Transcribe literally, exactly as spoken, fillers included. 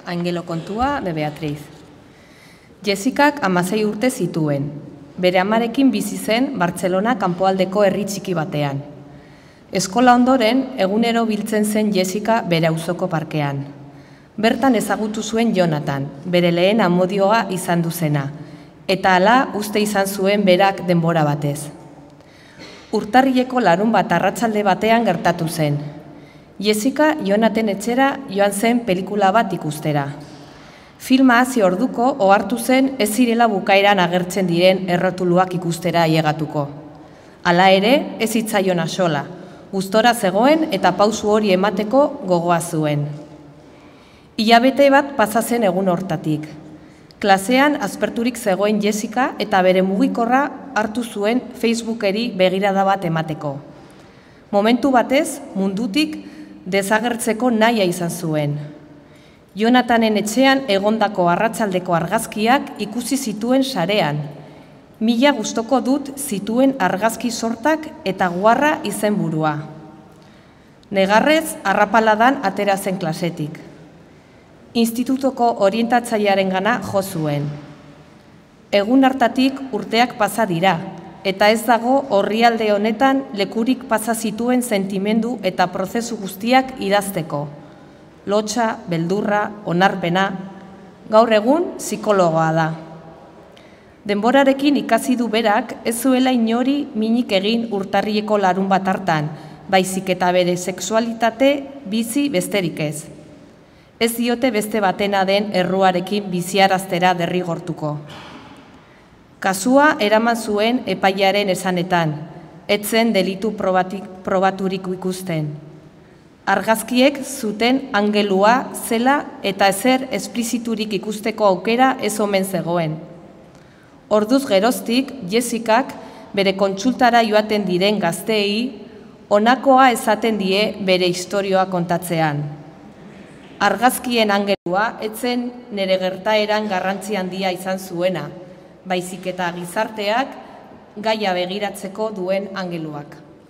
Angelo kontua de Beatriz. Jessicak hamasei urte zituen. Bere amarekin bizi zen Bartzelona kanpoaldeko herri txiki batean. Eskola ondoren, egunero biltzen zen Jessica bere auzoko parkean. Bertan ezagutu zuen Jonathan, bere lehen amodioa izan duzena, eta hala uste izan zuen berak denbora batez. Urtarrileko larun bat arratsalde batean gertatu zen. Jessica Jonathan etxera joan zen pelikula bat ikustera. Filma hasi orduko ohartu zen ez zirela bukaeran agertzen diren errotuluak ikustera ailegatuko. Hala ere, ez zitzaion axola, gustora zegoen eta pausu hori emateko gogoa zuen. Hilabete bat pasa zen egun hortatik. Klasean asperturik zegoen Jessica eta bere mugikorra hartu zuen Facebookeri begirada bat emateko. Momentu batez, mundutik desagertzeko nahia izan zuen. Jonathanen etxean egondako arratsaldeko argazkiak ikusi zituen sarean. Mila gustoko dut zituen argazki sortak eta guarra izenburua. Negarrez, arrapaladan atera zen klasetik. Institutoko orientatzailearengana jo zuen. Egun hartatik urteak pasa dira, eta ez dago orrialde honetan lekurik pasa zituen sentimendu eta prozesu guztiak idazteko. Lotsa, beldurra, onarpena, gaur egun psikologoa da. Denborarekin ikasi du berak ez zuela inori minik egin urtarrileko larun bat hartan, baizik eta bere sexualitate bizi besterik ez. Ez diote beste batena den erruarekin biziaraztera derrigortuko. Kasua eraman zuen epailearen esanetan, ez zen delitu probatik, probaturik ikusten. Argazkiek zuten angelua zela eta ezer espliziturik ikusteko aukera ez omen zegoen. Orduz geroztik, Jessicak bere kontsultara joaten diren gazteei honakoa esaten die bere istorioa kontatzean. Argazkien angelua ez zen nire gertaeran garrantzi handia izan zuena, baizik eta gizarteak gaia begiratzeko duen angeluak.